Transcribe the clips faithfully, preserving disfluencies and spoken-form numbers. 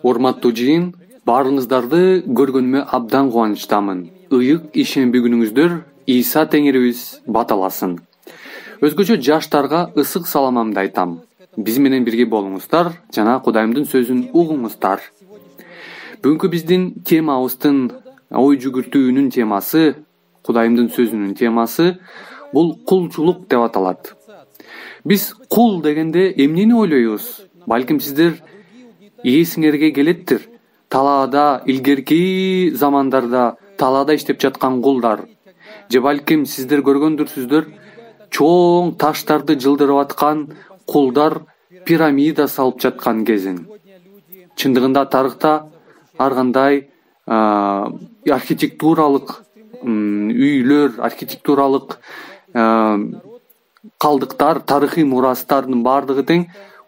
Урматтуу жыйын, баарыңыздарды көргөнүмө абдан кубанычтамын. Ыйык ишемби күнүңүздөр Ийса Теңирибиз баталасын. Өзгөчө жаштарга ысык саламымды айтам. Биз менен бирге болуңуздар жана Кудайымдын сөзүн угуңуздар. Бүгүнкү биздин темабыздын ой жүгүртүүнүн темасы, Кудайымдын сөзүнүн темасы бул кулчулук деп аталат. Биз кул дегенде эмнени ойлойбуз? Балким сиздер эсиңерге келеттир. Талаада, илгерки замандарда талаада иштеп жаткан кулдар. Же балким сиздер көргөндүрсүздөр, чоң таштарды жылдырып аткан кулдар пирамида салып жаткан кезин. Чындыгында тарыхта ар кандай архитектуралык үйлөр, архитектуралык калдыктар, тарыхый мурастардын баардыгы тең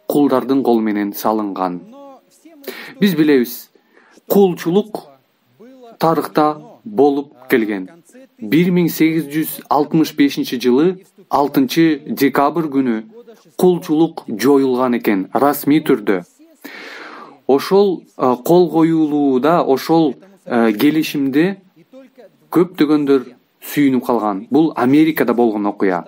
кулдардын колу менен салынган. Биз билебиз, кулчулук тарыхта болуп келген. бир миң сегиз жүз алтымыш бешинчи жылы алтынчы декабрь күнү кулчулук жоюлган экен, расмий түрдө. Ошол кол коюлууда, ошол келишимде көптөгөндөр сүйүнүп калган. Бул Америкада болгон окуя.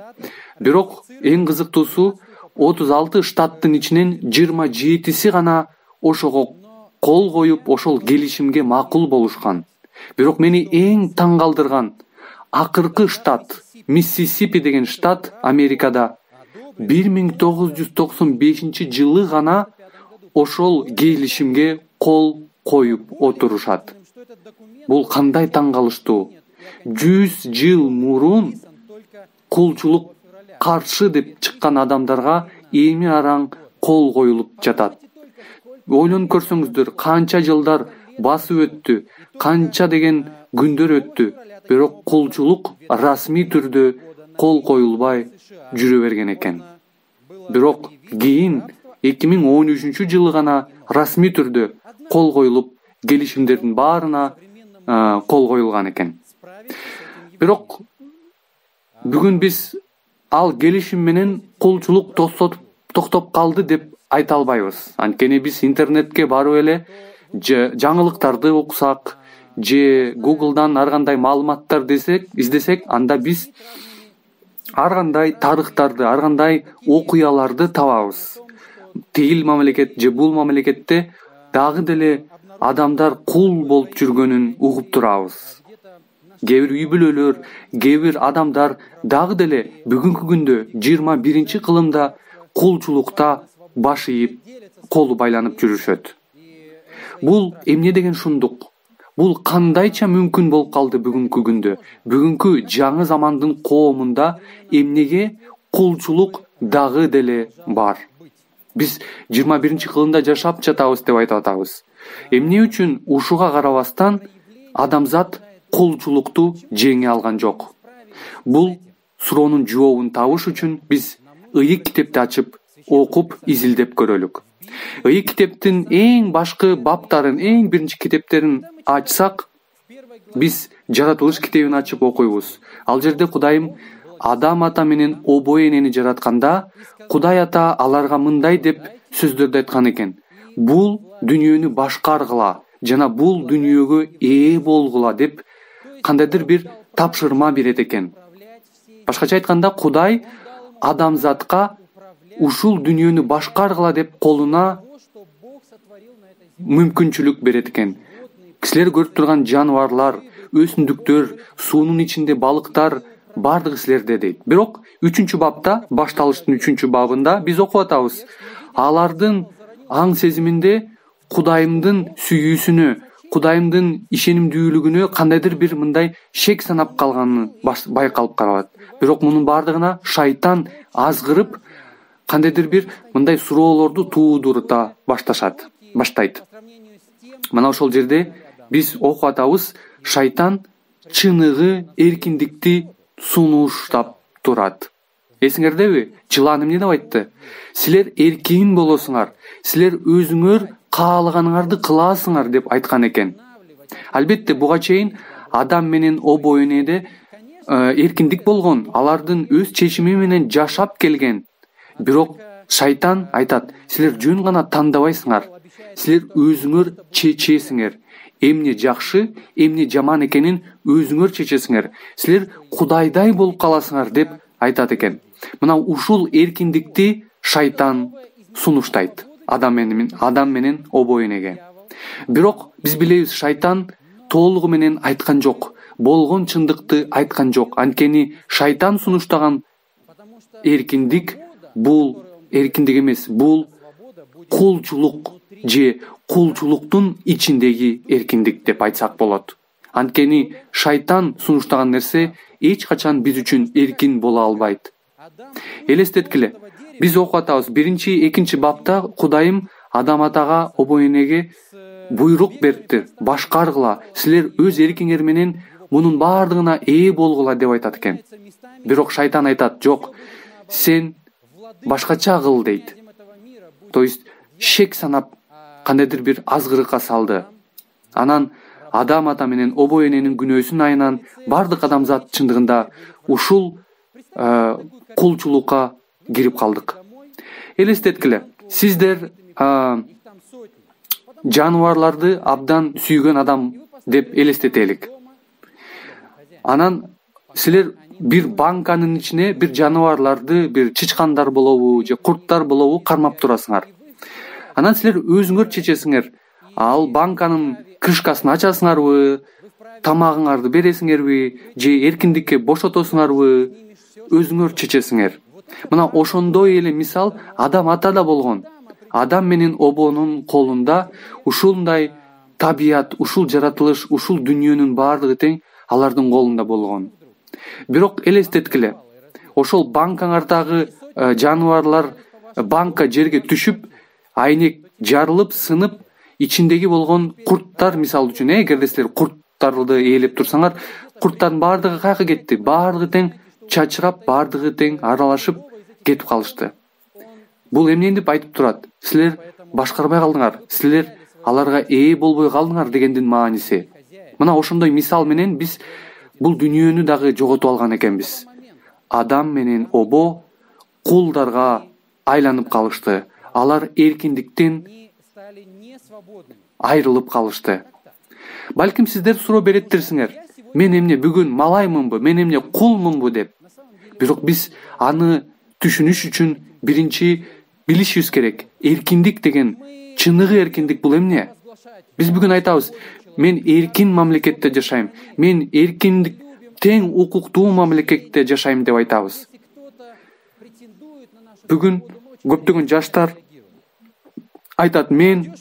Бирок эң кызыктуусу, отуз алты штаттын ичинен жыйырма жетиси гана ошого кол коюп, ошол келишимге макул болушкан. Бирок мени эң таң калтырган акыркы штат, Миссисипи деген штат Америкада бир миң тогуз жүз токсон бешинчи жылы гана ошол келишимге кол коюп отурушат. Бул кандай таң калыштуу. жүз жыл мурун кулчулук каршы деп чыккан адамдарга эми араң кол коюлуп жатат. Ойлонуп көрсөңүздөр, канча жылдар басып өттү, канча деген күндөр өттү, бирок кулчулук расмий түрдө кол коюлбай жүрө берген экен. Бирок кийин эки миң он үчүнчү жылы гана расмий түрдө кол коюлуп, келишимдердин баарына кол коюлган экен. Бирок бүгүн биз ал келишим менен кулчулук токтоп калды деп айта албайбыз. Анткени биз интернетке барып эле жаңылыктарды окусак, же Google'дан ар кандай маалыматтар десек, издесек, анда биз ар кандай тарыхтарды, ар кандай окуяларды табабыз. Тигил мамлекет же бул мамлекетте дагы деле адамдар кул болуп жүргөнүн угуп турабыз. Кээ бир үй бүлөлөр, кээ бир адамдар дагы деле бүгүнкү күндө жыйырма биринчи кылымда кулчулукта баш ийип, колу байланып жүрүшөт. Бул эмне деген шундук? Бул кандайча мүмкүн болуп калды бүгүнкү күндө? Бүгүнкү жаңы замандын коомунда эмнеге кулчулук дагы деле бар? Биз жыйырма биринчи кылымда жашап жатабыз деп айтып атабыз. Эмне үчүн ушуга карабастан адамзат кулчулукту жеңе алган жок? Бул суроонун жообун табыш үчүн биз Ыйык китепти ачып, окуп, изилдеп көрөлүк. Ыйык китептин эң башкы баптарын, эң биринчи китептерин ачсак, биз Жаратылыш китебин ачып окуйбуз. Ал жерде Кудайым Адам ата менен обой энени жаратканда, Кудай ата аларга мындай деп сөздөрдү айткан экен. Бул дүйнөнү башкаргыла жана бул дүйнөгө ээ болгула деп кандайдыр бир тапшырма берет экен. Башкача айтканда, Кудай адамзатка ушул дүйнөнү башкаргыла деп колуна мүмкүнчүлүк берет экен. Кисилер көрүп турган жаныбарлар, өсүмдүктөр, суунун ичинде балыктар бардыгы силерде дейт. Бирок үчүнчү бапта, башталыштын үчүнчү бабында биз окуп атабыз. Алардын аң сезиминде Кудайымдын сүйүүсүнө, Кудайымдын ишенимдүүлүгүнө кандайдыр бир мындай шек санап калганын байкалып калат. Бирок мунун бардыгына шайтан азгырып, кандайдыр бир мындай суроолорду туудурута башташат, баштайт. Мына ошол жерде биз окуп атабыз, шайтан чыныгы эркиндикти сунуштап турат. Эсиңердеби? Жылан эмне деп айтты? Силер эркин болосуңар, силер өзүңөр каалаганыңарды кыласыңар деп айткан экен. Албетте буга чейин Адам менен обой энеде эркиндик болгон, алардын өз чечими менен жашап келген. Бирок Шайтан айтат, силер жөн гана тандабайсыңар, силер өзүңөр чечесиңер. Эмне жакшы, эмне жаман экенин өзүңөр чечесиңер. Силер Кудайдай болуп каласыңар деп айтат экен. Мына ушул эркиндикти шайтан сунуштайт адам менен адам менен обо энеге. Бирок биз билебиз, шайтан толугу менен айткан жок, болгон чындыкты айткан жок. Анткени шайтан сунуштаган эркиндик бул эркиндик эмес, бул кулчулук же кулчулуктун ичиндеги эркиндик деп айтсак болот. Анткени шайтан сунуштаган нерсе эч качан биз үчүн эркин боло албайт. Элестеткиле, биз окуп атабыз, биринчи, экинчи бапта Кудайым Адам атага, обо энеге буйрук берди, башкаргыла, силер өз эркиңер менен мунун баардыгына ээ болгула деп айтат экен. Бирок шайтан айтат, жок, сен башкача кыл дейт. То есть шек санап кандайдыр бир азгырыкка салды. Анан Адам ата менен обо эненин күнөөсүн айынан бардык адамзат чындыгында ушул кулчулукка кирип калдык. Элестеткиле, сиздер жаныбарларды абдан сүйгөн адам деп элестетелик. Анан силер бир банканын ичине бир жаныбарларды, бир чычкандар болобу же курттар болобу кармап турасыңар. Анан силер өзүңөр чечесиңер, ал банканын крышкасын ачасыңарбы, тамагыңарды бересиңерби, же эркиндикке бошотосуңарбы, өзүңөр чечесиңер. Мына ошондой эле мисал Адам ата да болгон. Адам менен обонун колунда ушундай табият, ушул жаратылыш, ушул дүнүйөнүн баардыгы тең алардын колунда болгон. Бирок элестеткиле, ошол банкаңардагы жаныбарлар банка жерге түшүп, айнек жарылып, сынып, ичиндеги болгон курттар, мисалы үчүн, эгерде силер курттарды ээлеп турсаңар, курттардын баардыгы кайка кетти, баардыгы тең чачырап, баардыгы тең аралашып кетип калышты. Бул эмнени деп айтып турат? Силер башкарбай калдыңар, силер аларга ээ болбой калдыңар дегендин мааниси. Мына ошондой мисал менен биз бул дүнүйөнү дагы жоготуп алган экенбиз. Адам менен обо кулдарга айланып калышты. Алар эркиндиктен айрылып калышты. Балким сиздер суроо береттирсиңер, мен эмне бүгүн малаймынбы, мен эмне кулмунбу деп. Бирок биз аны түшүнүш үчүн биринчи билишибиз керек. Эркиндик деген, чыныгы эркиндик бул эмне? Биз бүгүн айтабыз, мен эркин мамлекетте жашайм, мен эркиндик, тең укуктуу мамлекетте жашайм деп айтабыз. Бүгүн көптөгөн жаштар айтат, мен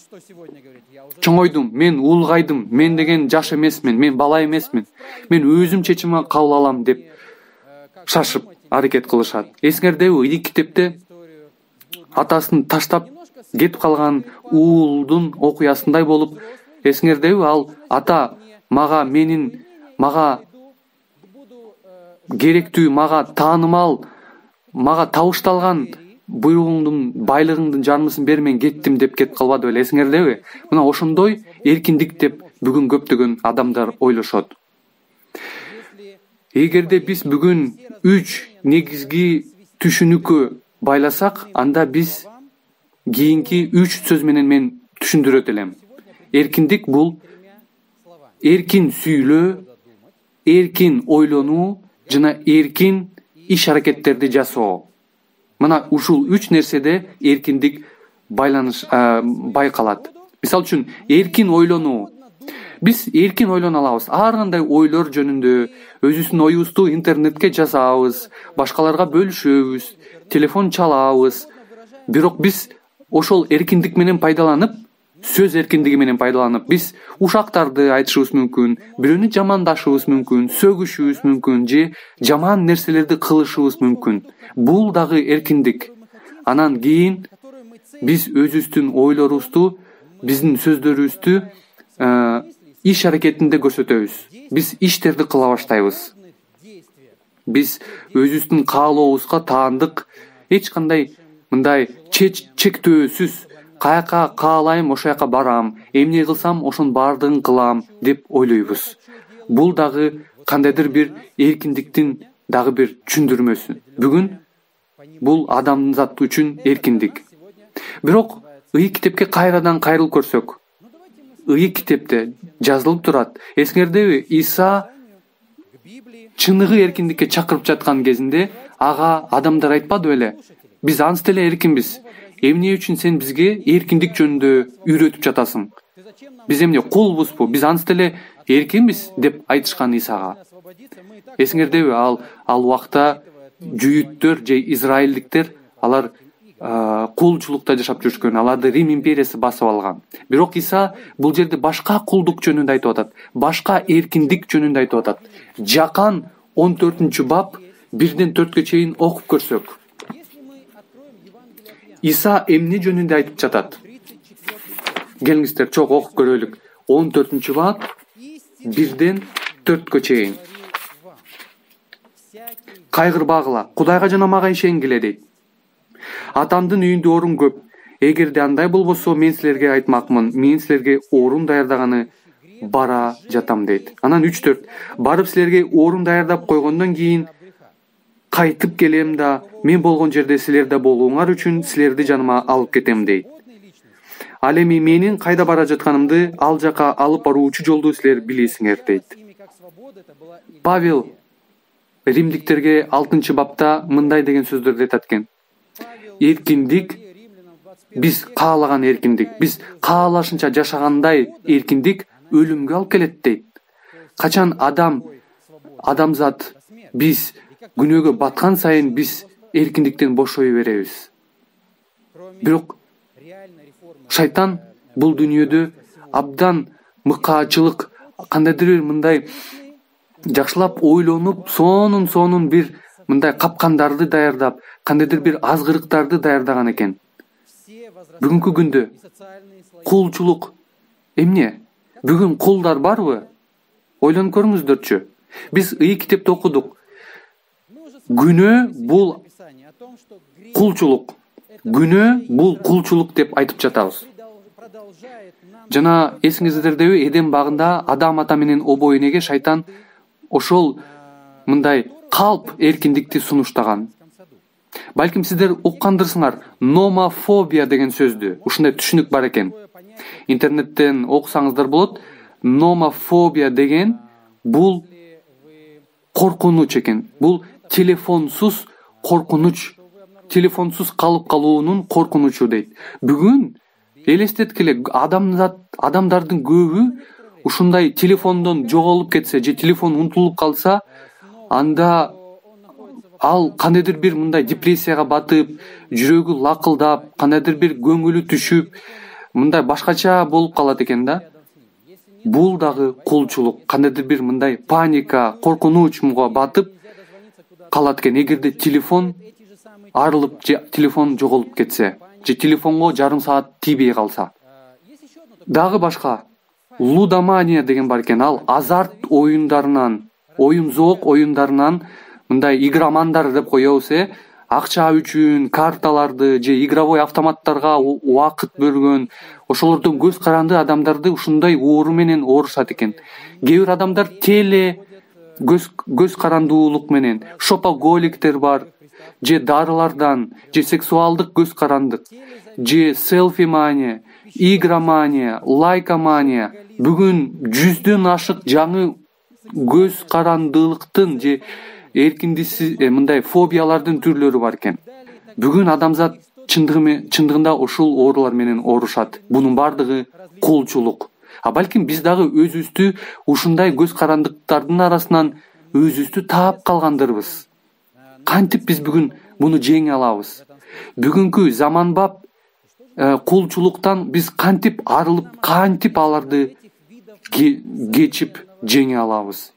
чоңойдум, мен улгайдым, мен деген жаш эмесмин, мен бала эмесмин, мен өзүм чечим кабыл алам деп шашып аракет кылышат. Эсиңердеби, Ийик китепте атасын таштап кетип калган уулдун окуясындай болуп, эсиңердеби, ал ата мага менин мага керектүү, мага таанымал, мага табышталган буйругуңдун, байлыгыңдын жарымысын бер, мен кеттим деп кетип калбады беле, эсиңердеби? Мына ошондой эркиндик деп бүгүн көптөгөн адамдар ойлошот. Эгерде биз бүгүн үч негизги түшүнүккө байласак, анда биз кийинки үч сөз менен мен түшүндүрөт элем. Эркиндик бул эркин сүйлөө, эркин ойлонуу жана эркин иш аракеттерди жасоо. Мына ушул үч нерседе эркиндик байланыш байкалат. Мисалы үчүн, эркин ойлонуу. Биз эркин ойлоно алабыз. Ар кандай ойлор жөнүндө өзүбүздүн оюбузду интернетке жазабыз, башкаларга бөлүшөбүз, телефон чалабыз. Бирок биз ошол эркиндик менен пайдаланып, сөз эркиндиги менен пайдаланып, биз ушактарды айтышыбыз мүмкүн, бирөөнү жамандашыбыз мүмкүн, сөгүшүбүз мүмкүн, же жаман нерселерди кылышыбыз мүмкүн. Бул дагы эркиндик. Анан кийин биз өзүбүздүн ойлорубузду, биздин сөздөрүбүздү иш аракетинде көрсөтөбүз. Биз иштерди кыла баштайбыз. Биз өзүбүздүн каалообузга таандык, эч кандай мындай чектөөсүз, каяка каалайм ошол жака барам, эмне кылсам ошонун баардыгын кылам деп ойлойбуз. Бул дагы кандайдыр бир эркиндиктин дагы бир түшүндүрмөсү. Бүгүн Бул адамзат үчүн эркиндик. Бирок ый китепке кайрадан кайрылып көрсөк, ый китепте жазылып турат. Эсиңердеби, Иса чыныгы эркиндикке чакырып жаткан кезинде ага адамдар айтпады беле? Биз анча эле эркинбиз. Эмне үчүн сен бизге эркиндик жөнүндө үйрөтүп жатасың? Биз эмне кулбузбу? Биз анча эле эркинбиз деп айтышкан Исага. Эсиңердеби, ал ал убакта жүйүттөр же израилдиктер алар кулчулукта жашап жүрүшкөн, аларды Рим империясы басып алган. Бирок Иса бул жерде башка кулдук жөнүндө айтып атат, башка эркиндик жөнүндө айтып атат. Жакан он төртүнчү бап бирден төрткө чейин окуп көрсөк, Иса эмне жөнүндө айтып жатат? Келиңиздер, чогуу окуп көрөлүк. он төртүнчү бап бирден төрткө чейин. Кайгырбагыла, Кудайга жана мага ишенгиле дейт. Атамдын үйүндө орун көп. Эгерде андай болбосо, мен силерге айтмакмын. Мен силерге орун даярдаганы бара жатам дейт. Анан үч төрт. Барып силерге орун даярдап койгондон кийин кайтып келем да, мен болгон жерде силерде болууңар үчүн силерди жаныма алып кетем дейт. Ал эми менин кайда бара жатканымды, ал жака алып баруучу жолду силер билесиңер дейт. Павел Римдиктерге алтынчы бапта мындай деген сөздөрдү айтат экен. Эркиндик, биз каалаган эркиндик, биз каалашынча жашагандай эркиндик өлүмгө алып келет дейт. Качан адам, адамзат, биз күнөөгө баткан сайын биз эркиндиктен бошой беребиз. Бирок шайтан бул дүйнөдө абдан мыкаачылык, кандайдыр бир мындай жакшылап ойлонуп, сонун сонун бир мындай капкандарды даярдап, кандайдыр бир азгырыктарды даярдаган экен. Бүгүнкү күндө кулчулук эмне? Бүгүн кулдар барбы? Ойлонуп көрүңүздөрчү. Биз ый китепте окудук. Күнөө бул кулчулук. Күнөө бул кулчулук деп айтып жатабыз. Жана эсиңиздердеби, Эдем багында Адам ата менен обо энеге шайтан ошол мындай калп эркиндикти сунуштаган. Балким сиздер уккандырсыңар, номофобия деген сөздү. Ушундай түшүнүк бар экен. Интернеттен окусаңыздар болот. Номофобия деген бул коркунуч экен. Бул телефонсуз коркунуч, телефонсуз калып калуунун коркунучу дейт. Бүгүн элестеткиле, адамзат, адамдардын көбү ушундай телефондон жоголуп кетсе же телефон унутулуп калса, анда ал кандайдыр бир мындай депрессияга батып, жүрөгү лакылдап, кандайдыр бир көңүлү түшүп, мындай башкача болуп калат экен да. Бул дагы кулчулук, кандайдыр бир мындай паника, коркунучка батып калат экен. Эгерде телефон арылып же телефон жоголуп кетсе, же телефонго жарым саат тийбей калса. Дагы башка лудомания деген бар экен. Ал азарт оюндарынан, оюн-зоок оюндарынан мындай игромандар деп коебуз, э, акча үчүн карталарды же игровой автоматтарга убакыт бөлгөн, ошолордон көз каранды адамдарды ушундай оору менен оорушат экен. Кээ бир адамдар теле көз көз карандуулук менен, шопоголиктер бар, же дарылардан, же сексуалдык көз карандык, же селфи-мания, игромания, лайкомания. Бүгүн жүздөн ашык жаңы көз карандылыктын же эркиндиксиз мындай фобиялардын түрлөрү бар экен. Бүгүн адамзат чындыгында ушул оорулар менен оорушат. Бунун бардыгы кулчулук. А балким биз дагы өзүбүздү ушундай көз карандыктардын арасынан өзүбүздү таап калгандырбыз. Кантип биз бүгүн муну жеңе алабыз? Бүгүнкү заманбап кулчулуктан биз кантип арылып, кантип аларды кечип жеңе алабыз?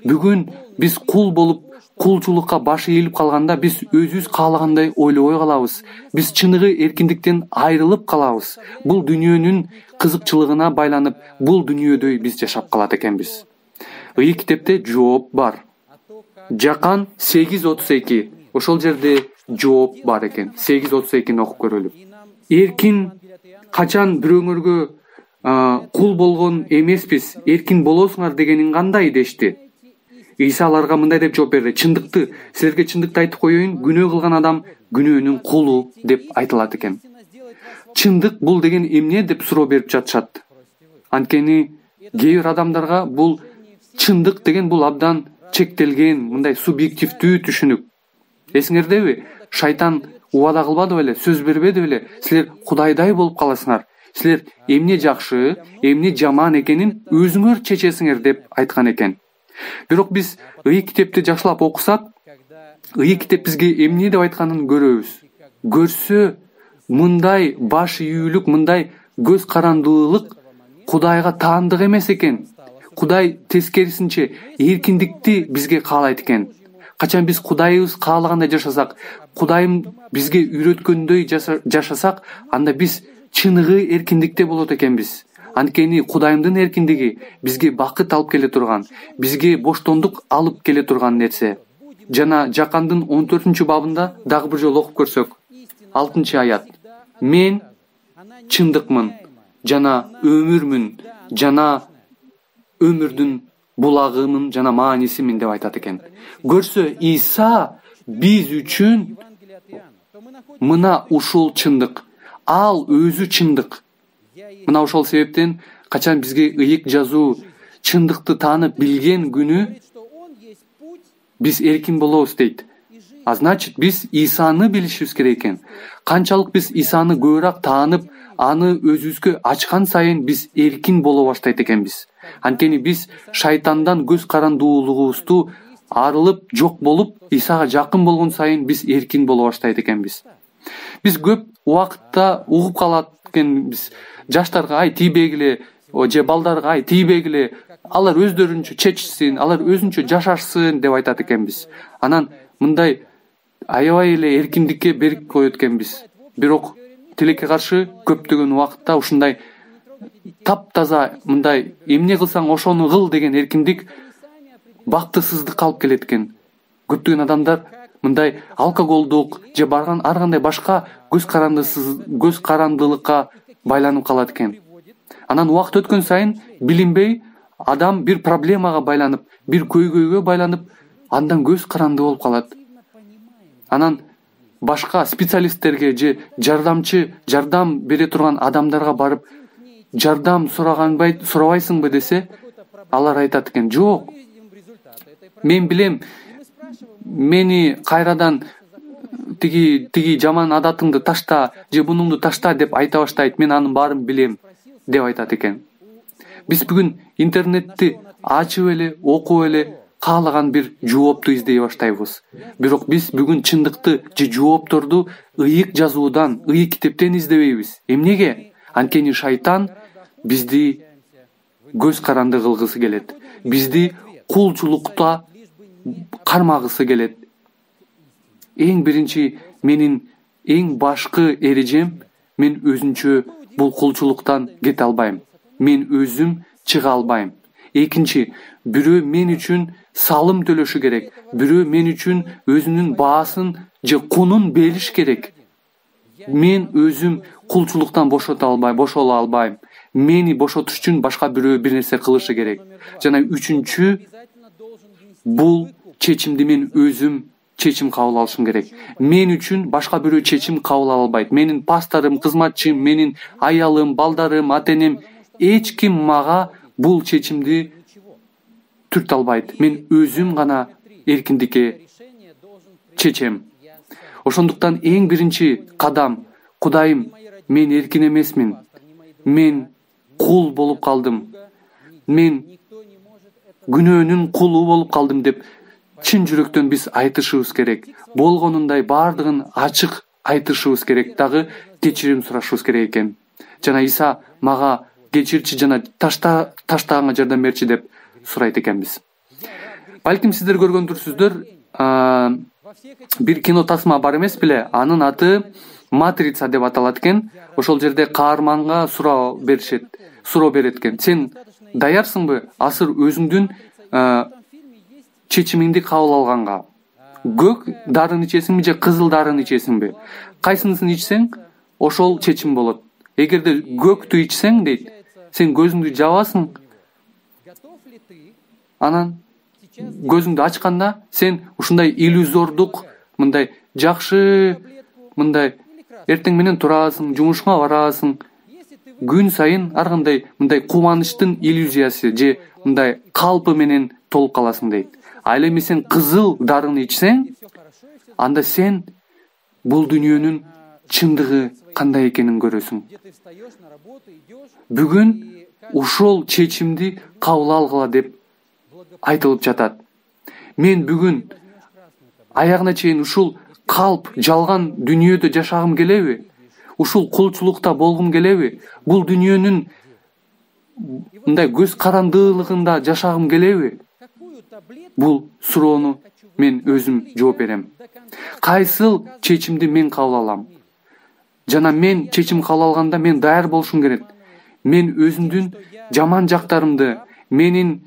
Бүгүн биз кул болуп, кулчулукка башы ийилип калганда биз өзүбүз каалагандай ойлобой калабыз. Биз чыныгы эркиндиктен айрылып калабыз. Бул дүйнөнүн кызыкчылыгына байланып, бул дүйнөдө биз жашап калат экенбиз. Ый китепте жооп бар. Жакан сегиз отуз эки. Ошол жерде жооп бар экен. сегиз отуз экини окуп көрөлүк. Эркин качан бирөөңөргө кул болгон эмеспиз, эркин болосуңар дегенин кандай дешти? Иса аларга мындай деп жооп берди: чындыкты, силерге чындыкты айтып коеюн, күнөө кылган адам күнөөнүн кулу деп айтылат экен. Чындык бул деген эмне деп суроо берип жатышат. Анткени кээ бир адамдарга бул чындык деген бул абдан чектелген, мындай субъективдүү түшүнүк. Эсиңердеби? Шайтан убада кылбады беле, сөз бербеди беле? Силер кудайдай болуп каласыңар. Силер эмне жакшы, эмне жаман экенин өзүңөр чечесиңер деп айткан экен. Бирок биз ыйык китепти жакшылап окусак, ыйык китеп бизге эмне деп айтканын көрөбүз. Көрсө, мындай баш ийүүлүк, мындай көз карандылык Кудайга таандык эмес экен. Кудай тескерисинче эркиндикти бизге каалайт экен. Качан биз Кудайыбыз каалагандай жашасак, Кудайым бизге үйрөткөндөй жашасак, анда биз чыныгы эркиндикте болот экенбиз. Анткени Кудайымдын эркиндиги бизге бакыт алып келе турган, бизге боштондук алып келе турган нерсе. Жана Жакандын он төртүнчү бабында дагы бир жолу окуп көрсөк, алтынчы аят. Мен чындыкмын, жана өмүрмүн, жана өмүрдүн булагымын, жана маанисимин деп айтат экен. Көрсө, Иса биз үчүн мына ушул чындык. Ал өзү чындык. Мына ошол себептен качан бизге ыйык жазуу чындыкты таанып билген күнү биз эркин болобуз дейт. А значит, биз Исаны билишибиз керек экен. Канчалык биз Исаны көбүрөөк таанып, аны өзүбүзгө ачкан сайын биз эркин боло баштайт экенбиз. Анткени биз шайтандан көз карандуулугубузду арылып, жок болуп, Исага жакын болгон сайын биз эркин боло баштайт экенбиз. Биз көп убакытта угуп калат экенбиз. Жаштарга ай тийбегиле, же балдарга ай тийбегиле, алар өздөрүнчө чечсин, алар өзүнчө жашашсын деп айтат экенбиз. Анан мындай аябай эле эркиндикке берип коет экенбиз. Бирок тилекке каршы көптөгөн убакытта ушундай таптаза мындай эмне кылсаң ошону кыл деген эркиндик бактысыздыкка алып келет экен. Көптөгөн адамдар мындай алкоголдук же барган ар кандай башка көз карандысыз көз карандылыкка байланып калат экен. Анан убакыт өткөн сайын билинбей адам бир проблемага байланып, бир көйгөйгө байланып, андан көз каранды болуп калат. Анан башка специалисттерге же жардамчы, жардам бере турган адамдарга барып, жардам сураганбай, сурабайсыңбы десе, алар айтат экен: "Жок. Мен билем, мени кайрадан тиги тиги жаман адатыңды ташта, же бунуңду ташта" деп айта баштайт. "Мен анын баарын билем" деп айтат экен. Биз бүгүн интернетти ачып эле, окуп эле каалаган бир жоопту издей баштайбыз. Бирок биз бүгүн чындыкты же жоопторду ыйык жазуудан, ыйык китептен издебейбиз. Эмнеге? Анткени шайтан бизди көз каранды кылгысы келет. Бизди кулчулукта кармагысы келет. Эң биринчи менин эң башкы эрежем, мен өзүнчө бул кулчулуктан кете албайм. Мен өзүм чыга албайм. Экинчи, бирөө мен үчүн салым төлөшү керек. Бирөө мен үчүн өзүнүн баасын же кунун бериш керек. Мен өзүм кулчулуктан бошото албайм, бошоло албайм. Мени бошотуш үчүн башка бирөө бир нерсе кылышы керек. Жана үчүнчү, бул чечимди мен өзүм чечим кабыл алышым керек. Мен үчүн башка бирөө чечим кабыл ала албайт. Менин пасторум, кызматчым, менин аялым, балдарым, ата-энем, эч ким мага бул чечимди түртө албайт. Мен өзүм гана эркиндикке чечем. Ошондуктан эң биринчи кадам: Кудайым, мен эркин эмесмин. Мен кул болуп калдым. Мен күнөөнүн кулу болуп калдым деп чын жүрөктөн биз айтышыбыз керек. Болгонундай баардыгын ачык айтышыбыз керек, дагы кечирим сурашыбыз керек экен. Жана Иса мага кечирчи жана ташта таштаганга жардам берчи деп сурайт экенбиз. Балким сиздер көргөндүрсүздөр, бир кино тасма бар эмес беле? Анын аты Матрица деп аталат экен. Ошол жерде каарманга суроо беришет, суроо берет экен: "Сен даярсыңбы азыр өзүңдүн чечимиңди кабыл алганга? Көк дарын ичесиңби же кызыл дарын ичесиңби? Кайсынысын ичсең, ошол чечим болот. Эгерде көктү ичсең" дейт, "сен көзүңдү жабасың. Анан көзүңдү ачканда сен ушундай иллюзордук, мындай жакшы, мындай эртең менен турасың, жумушуңа барасың. Күн сайын ар кандай мындай кубанычтын иллюзиясы же мындай калпы менен толуп каласың дейт. Ал эми сен кызыл дарыны ичсең, анда сен бул дүйнөнүн чындыгы кандай экенин көрөсүң. Бүгүн ушул чечимди кабыл алгыла деп айтылып жатат. Мен бүгүн аягына чейин ушул калп жалган дүйнөдө жашагым келеби? Ушул кулчулукта болгум келеби? Бул дүйнөнүн мындай көз карандылыгында жашагым келеби? Бул суроону мен өзүм жооп берем. Кайсыл чечимди мен кабыл алам? Жана мен чечим кабыл алганда мен даяр болушум керек. Мен өзүмдүн жаман жактарымды, менин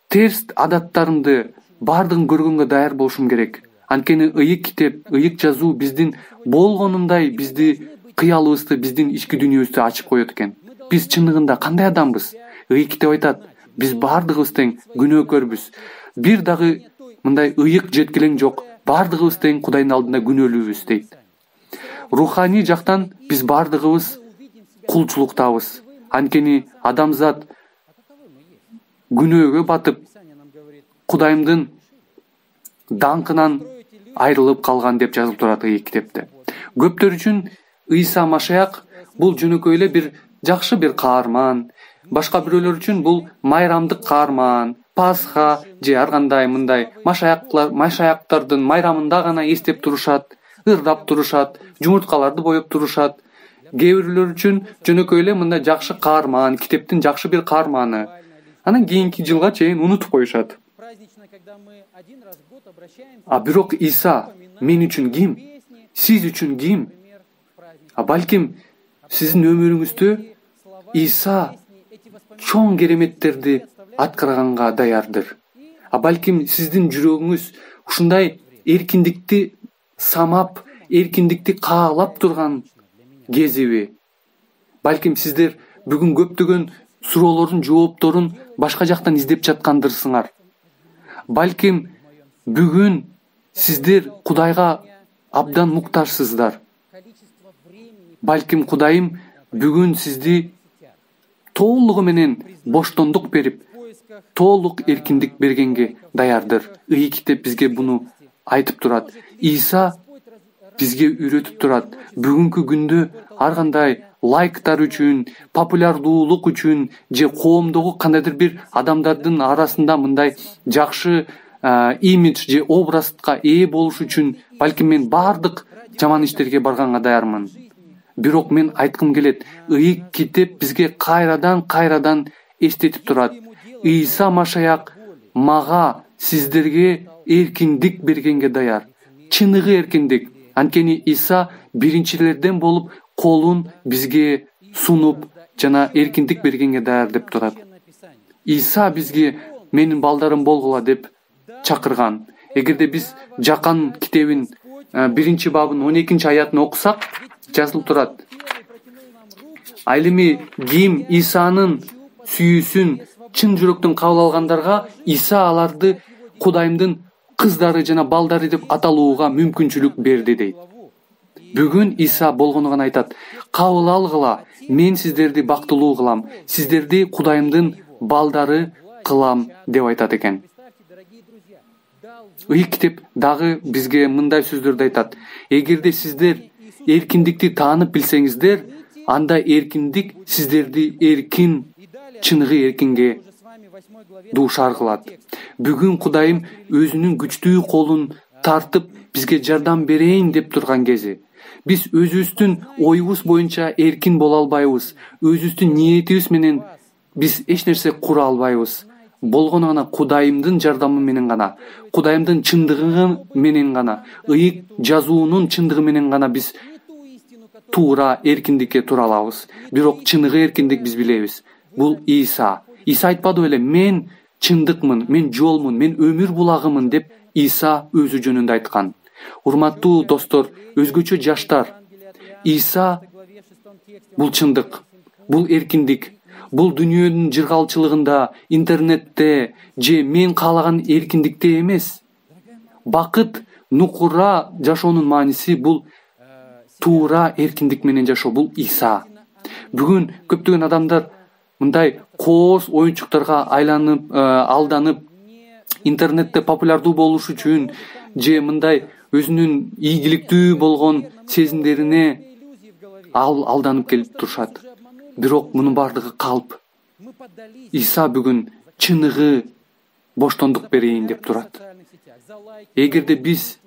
терс адаттарымды бардыгын көргөнгө даяр болушум керек. Анткени ыйык китеп, ыйык жазуу биздин болгонундай бизди кыялыбызды, биздин ички дүйнөбүздү ачып коет экен. Биз чындыгында кандай адамбыз? Ыйык китеп айтат, биз бардыгыбыз тең күнөөкөрбүз. Бир дагы мындай ыйык жеткилең жок. Бардыгыбыз тең Кудайдын алдында күнөөлүүбүз дейт. Руханий жактан биз бардыгыбыз кулчулуктабыз. Анткени адамзат күнөөгө батып, Кудайымдын даңкынан айрылып калган деп жазылып турат ыйык китепте. Көптөр үчүн Ыйса Машаяк бул жөнөкөй эле бир жакшы бир каарман, башка бирөөлөр үчүн бул майрамдык каарман, Пасха же ар кандай мындай машаяктар, машаяктардын майрамында гана эстеп турушат, ырдап турушат, жумурткаларды боеп турушат. Кээ бирлөр үчүн жөнөкөй эле мындай жакшы каарман, китептин жакшы бир каарманы. Анан кийинки жылга чейин унутуп коюшат. А бирок Иса мен үчүн ким? Сиз үчүн ким? А балким сиздин өмүрүңүздө Иса чоң кереметтерди аткарганга даярдыр. А балким сиздин жүрөгүңүз ушундай эркиндикти самап, эркиндикти каалап турган кезиби? Балким сиздер бүгүн көптөгөн суроолордун жоопторун башка жактан издеп жаткандырсыңар. Балким бүгүн сиздер Кудайга абдан муктажсыздар. Балким Кудайым бүгүн сизди толугу менен боштондук берип, толук эркиндик бергенге даярдыр. Ыйык китеп бизге буну айтып турат. Иса бизге үйрөтүп турат. Бүгүнкү күндө ар кандай лайктар үчүн, популярдуулук үчүн же коомдогу кандайдыр бир адамдардын арасында мындай жакшы имидж же образга ээ болуш үчүн балким мен бардык жаман иштерге барганга даярмын. Бирок мен айткым келет, ыйык китеп бизге кайрадан кайрадан эстетип турат. Ыйса Машаяк мага, сиздерге эркиндик бергенге даяр. Чыныгы эркиндик. Анткени Иса биринчилерден болуп колун бизге сунуп жана эркиндик бергенге даяр деп турат. Иса бизге менин балдарым болгула деп чакырган. Эгерде биз Жакан китебин биринчи бабын он экинчи аятын окусак, жазылып турат. Ал эми ким Исанын сүйүүсүн чын жүрөктөн кабыл алгандарга Иса аларды Кудайымдын кыздары жана балдары деп аталууга мүмкүнчүлүк берди дейт. Бүгүн Иса болгону гана айтат, кабыл алгыла, мен сиздерди бактылуу кылам, сиздерди Кудайымдын балдары кылам деп айтат экен. Ыйык китеп дагы бизге мындай сөздөрдү айтат. Эгерде сиздер эркиндикти таанып билсеңиздер, анда эркиндик сиздерди эркин, чыныгы эркинге дуушар кылат. Бүгүн Кудайым өзүнүн күчтүү колун тартып бизге жардам берейин деп турган кези. Биз өзүбүздүн оюбуз боюнча эркин боло албайбыз. Өзүбүздүн ниетибиз менен биз эч нерсе кура албайбыз. Болгону гана Кудайымдын жардамы менен гана, Кудайымдын чындыгы менен гана, ыйык жазуунун чындыгы менен гана биз туура эркиндикке тура алабыз. Бирок чыныгы эркиндик биз билебиз. Бул Иса. Иса айтпады беле, мен чындыкмын, мен жолмун, мен өмүр булагымын деп Иса өзү жөнүндө айткан. Урматтуу достор, өзгөчө жаштар, Иса бул чындык, бул эркиндик. бул дүйнөнүн жыргалчылыгында, интернетте же мен каалаган эркиндикте эмес. Бакыт, нукура жашоонун мааниси бул туура эркиндик менен жашоо, бул Иса. Бүгүн көптөгөн адамдар мындай кооз оюнчуктарга айланып, алданып, интернетте популярдуу болуш үчүн же мындай өзүнүн ийгиликтүү болгон сезимдерине ал алданып келип турушат. Бирок мунун бардыгы калп. Иса бүгүн чыныгы боштондук берейин деп турат. Эгерде биз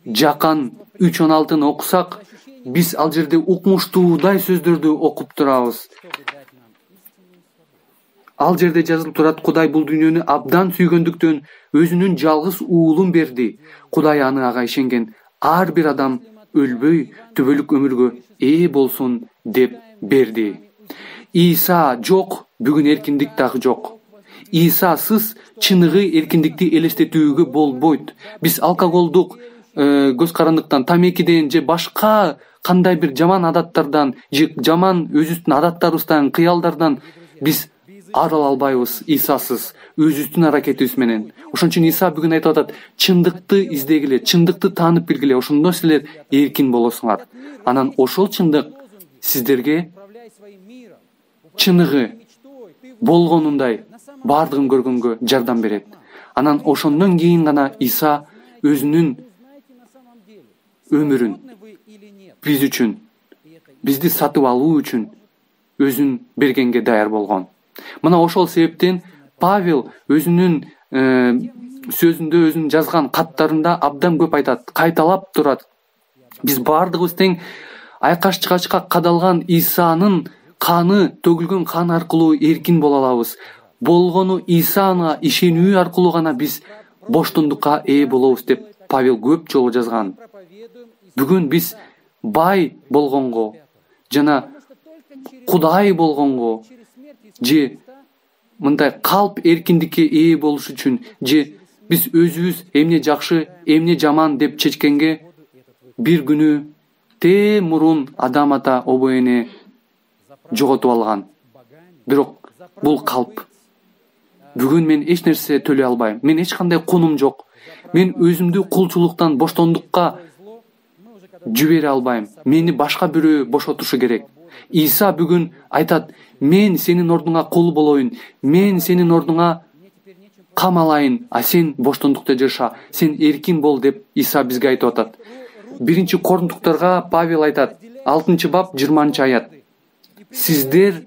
Жакан үч он алтыны окусак, биз ал жерде укмуштуудай сөздөрдү окуп турабыз. Ал жерде жазылып турат: Кудай бул дүйнөнү абдан сүйгөндүктөн өзүнүн жалгыз уулун берди. Кудай аны ага ишенген ар бир адам өлбөй, түбөлүк өмүргө ээ болсун деп берди. Иса жок, бүгүн эркиндик дагы жок. Исасыз чыныгы эркиндикти элестетүүгө болбойт. Биз алкоголдук көз карандыктан, тамекиден же башка кандай бир жаман адаттардан, же жаман өзүбүздүн адаттарыбыздан, кыялдардан биз арыла албайбыз Исасыз, өзүбүздүн аракетибиз менен. Ошон үчүн Иса бүгүн айтып атат: чындыкты издегиле, чындыкты таанып билгиле, ошондо силер эркин болосуңар. Анан ошол чындык сиздерге чыныгы болгонундай бардыгын көргөнгө жардам берет. Анан ошондон кийин гана Иса өзүнүн өмүрүн биз үчүн, бизди сатып алуу үчүн өзүн бергенге даяр болгон. Мына ошол себептен Павел өзүнүн сөзүндө, өзүнүн жазган каттарында абдан көп айтат, кайталап турат. Биз бардыгыбыз тең айкаш чыгачка кадалган Исанын каны, төгүлгөн кан аркылуу эркин боло алабыз. Болгону Исага ишенүү аркылуу гана биз боштондукка ээ болобуз деп Павел көп жолу жазган. Бүгүн биз бай болгонго жана Кудай болгонго же мындай калп эркиндикке ээ болуш үчүн же биз өзүбүз эмне жакшы, эмне жаман деп чечкенге бир күнү тээ мурун Адам ата обо эне жоготуп алган. Бирок бул калп. Бүгүн мен эч нерсе төлөй албайм. Мен эч кандай кунум жок. Мен өзүмдү кулчулуктан боштондукка жибере албайм. Мени башка бирөө бошотушу керек. Иса бүгүн айтат: мен сенин ордуңа кул болоюн, мен сенин ордуңа камалайын, а сен боштондукта жаша, сен эркин бол деп Иса бизге айтып атат. Биринчи Коринтуктарга Павел айтат, алтынчы бап жыйырманчы аят: сиздер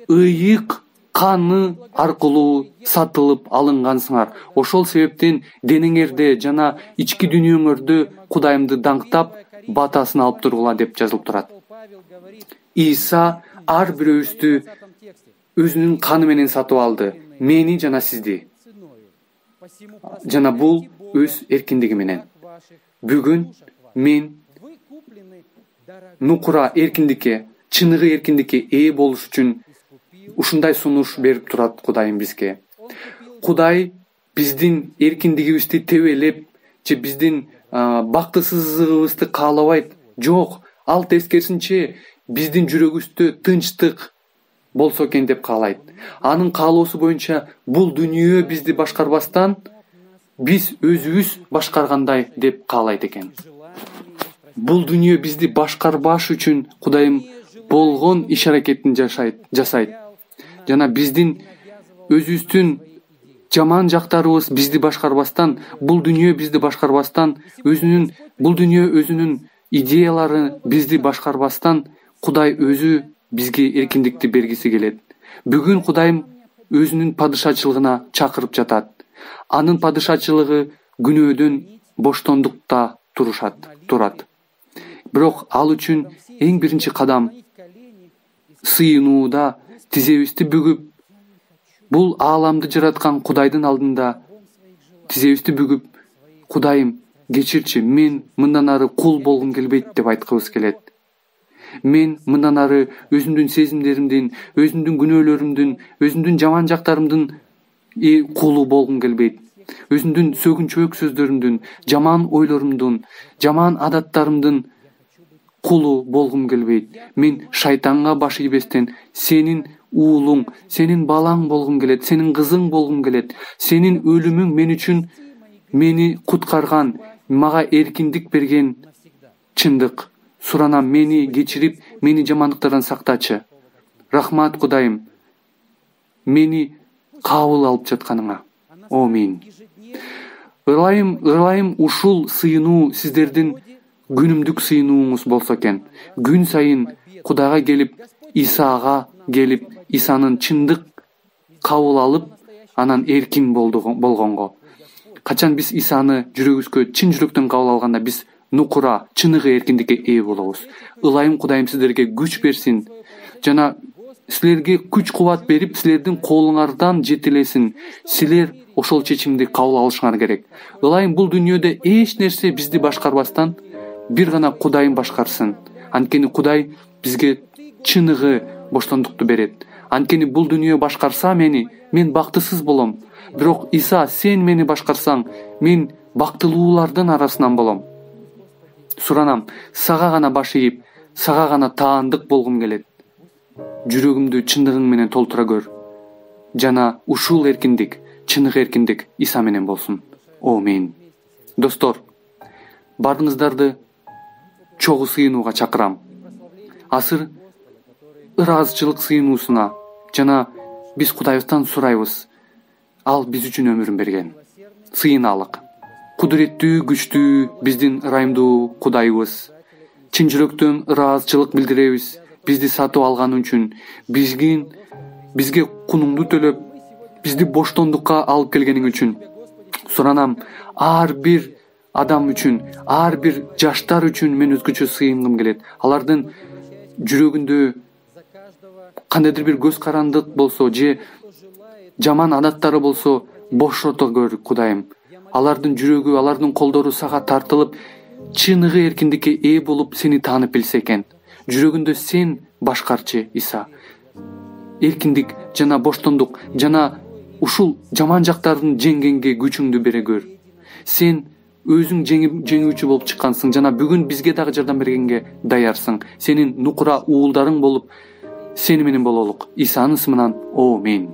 ыйык каны аркылуу сатылып алынгансыңар. Ошол себептен денеңерде жана ички дүйнөңөрдө Кудайымды даңктап, батасын алып тургула деп жазылып турат. Иса ар бирөөбүздү өзүнүн каны менен сатып алды, мени жана сизди. Жана бул өз эркиндиги менен. Бүгүн мен нукура эркиндикке, чыныгы эркиндикке ээ болуш үчүн ушундай сунуш берип турат Кудайым бизге. Кудай биздин эркиндигибизди тебелеп же биздин бактысыздыгыбызды каалабайт. Жок, ал тескерисинче биздин жүрөгүбүздө тынчтык болсо экен деп каалайт. Анын каалоосу боюнча бул дүйнө бизди башкарбастан биз өзүбүз башкаргандай деп каалайт экен. Бул дүйнө бизди башкарбаш үчүн Кудайым болгон иш аракетин жашайт, жасайт. Жана биздин өзүбүздүн жаман жактарыбыз бизди башкарбастан, бул дүйнө бизди башкарбастан, өзүнүн бул дүйнө өзүнүн идеялары бизди башкарбастан, Кудай өзү бизге эркиндикти бергиси келет. Бүгүн Кудайым өзүнүн падышачылыгына чакырып жатат. Анын падышачылыгы күнөөдөн боштондукта турушат, турат. Бирок ал үчүн эң биринчи кадам сыйынууда, тизебизди бүгүп, бул ааламды жараткан Кудайдын алдында тизебизди бүгүп, Кудайым, кечирчи, мен мындан ары кул болгум келбейт деп айткыбыз келет. Мен мындан ары өзүмдүн сезимдеримдин, өзүмдүн күнөөлөрүмдүн, өзүмдүн жаман жактарымдын кулу болгум келбейт. Өзүмдүн сөгүнчөөк сөздөрүмдүн, жаман ойлорумдун, жаман адаттарымдын кулу болгум келбейт. Мен шайтанга баш ийбестен сенин уулуң, сенин балаң болгум келет, сенин кызың болгум келет. Сенин өлүмүң мен үчүн мени куткарган, мага эркиндик берген чындык. Суранам, мени кечирип, мени жамандыктардан сактачы. Рахмат Кудайым, мени кабыл алып жатканыңа. Амин. Ылайым, ылайым ушул сыйынуу сиздердин күнүмдүк сыйынууңуз болсо экен. Күн сайын Кудайга келип, Исага келип, Исанын чындык кабыл алып, анан эркин болгонго. Качан биз Исаны жүрөгүбүзгө чын жүрөктөн кабыл алганда, биз нукура, чыныгы эркиндикке ээ болобуз. Ылайым Кудайым сиздерге күч берсин жана силерге күч кубат берип, силердин колуңардан жетелесин. Силер ошол чечимди кабыл алышыңар керек. Ылайым бул дүйнөдө эч нерсе бизди башкарбастан, бир гана Кудайым башкарсын. Анткени Кудай бизге чыныгы боштондукту берет. Анткени бул дүйнө башкарса мени, мен бактысыз болом. Бирок Иса, сен мени башкарсаң, мен бактылуулардын арасынан болом. Суранам, сага гана баш ийип, сага гана таандык болгум келет. Жүрөгүмдү чындыгың менен толтура көр. Жана ушул эркиндик, чыныгы эркиндик Иса менен болсун. Амин. Достор, баарыңыздарды чогуу сыйынууга чакырам. Азыр ыраазычылык сыйынуусуна жана биз Кудайыбыздан сурайбыз. Ал биз үчүн өмүрүн берген. Сыйыналык. Кудуреттүү, күчтүү биздин ырайымдуу Кудайыбыз. Чын жүрөктөн ыраазычылык билдиребиз. Бизди сатып алганы үчүн, бизгин бизге кунуңду төлөп, бизди боштондукка алып келгениң үчүн. Суранам, ар бир адам үчүн, ар бир жаштар үчүн мен өзгөчө сыйынгым келет. Алардын жүрөгүндө кандайдыр бир көз карандык болсо, же жаман адаттары болсо, бошото көр, Кудайым. Алардын жүрөгү, алардын колдору сага тартылып, чыныгы эркиндикке ээ болуп, сени таанып билсе экен. Жүрөгүндө сен башкарчы, Иса. Эркиндик жана боштондук жана ушул жаман жактарын жеңгенге күчүңдү бере көр. Сен өзүң жеңүүчү болуп чыккансың жана бүгүн бизге дагы жардам бергенге даярсың. Сенин нукура уулдарың болуп, сени менен бололук. Исанын ысымынан. Амин.